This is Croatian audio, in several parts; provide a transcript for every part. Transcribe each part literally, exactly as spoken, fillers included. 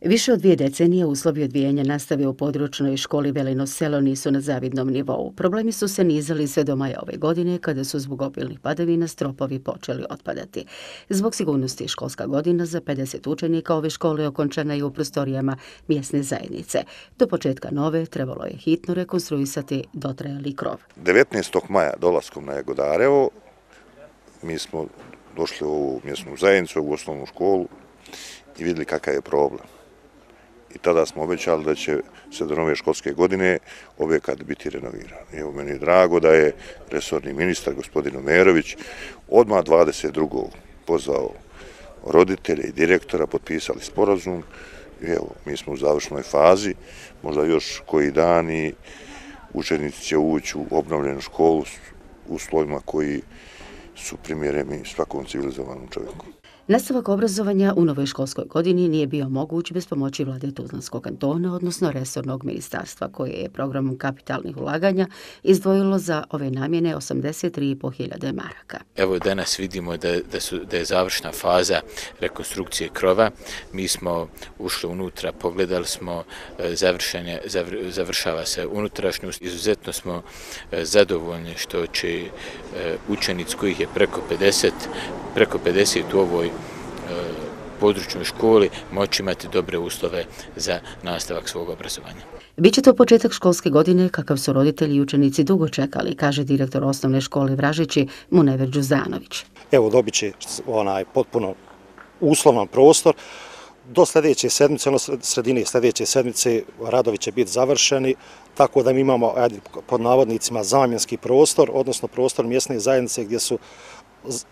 Više od dvije decenije uslovi odvijanja nastave u područnoj školi Velino Selo nisu na zavidnom nivou. Problemi su se nizali sve do maja ove godine, kada su zbog obilnih padavina stropovi počeli otpadati. Zbog sigurnosti školska godina za pedeset učenika ove škole okončana je u prostorijama mjesne zajednice. Do početka nove trebalo je hitno rekonstruisati dotrajali krov. devetnaestog maja dolaskom na Jagodarevo mi smo došli u ovu mjesnu zajednicu, u osnovnu školu i vidjeli kakav je problem. I tada smo obećali da će se do nove školske godine objekat biti renoviran. Evo, meni je drago da je resorni ministar, gospodin Omerović, odmah dvadeset drugog pozvao roditelje i direktora, potpisali sporazum. I evo, mi smo u završnoj fazi, možda još koji dan i učenici će ući u obnovljenu školu s uslovima koji su primjereni svakom civilizovanom čovjeku. Nastavak obrazovanja u novoj školskoj godini nije bio moguć bez pomoći vlade Tuzlanskog kantona, odnosno resornog ministarstva, koje je programom kapitalnih ulaganja izdvojilo za ove namjene osamdeset tri i po hiljade maraka. Evo danas vidimo da, da, su, da je završna faza rekonstrukcije krova. Mi smo ušli unutra, pogledali smo, završenje, zavr, završava se unutrašnjost. Izuzetno smo zadovoljni što će učenici kojih je preko pedeset, preko pedeset u ovoj područnoj školi moći imati dobre uslove za nastavak svog obrazovanja. Biće to početak školske godine kakav su roditelji i učenici dugo čekali, kaže direktor osnovne škole Vražići Munever Đuzanović. Evo, dobit će onaj potpuno uslovan prostor. Do sljedeće sedmice, ono sredine sljedeće sedmice, radovi će biti završeni, tako da mi imamo, ajde, pod navodnicima, zamjenski prostor, odnosno prostor mjesne zajednice gdje su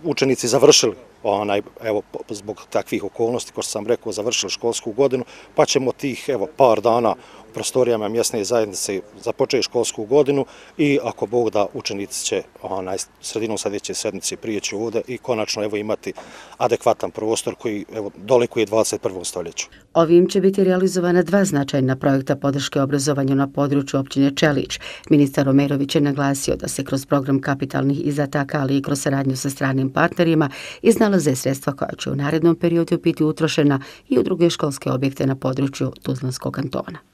učenici završili, onaj, evo, zbog takvih okolnosti, kao što sam rekao, završili školsku godinu, pa ćemo tih, evo, par dana u prostorijama mjesne zajednice započeti školsku godinu i ako Bog da, učenici će onaj, sredinom sljedeće sedmice prijeći ovdje i konačno, evo, imati adekvatan prostor koji, evo, dolikuje dvadeset prvom stoljeću. Ovim će biti realizovana dva značajna projekta podrške obrazovanju na području općine Čelić. Ministar Omerović je naglasio da se kroz program kapitalnih izdataka, ali i kroz saradnju sa stranim partnerima iznalaze sredstva koja će u narednom periodu biti utrošena i u druge školske objekte na području Tuzlanskog kantona.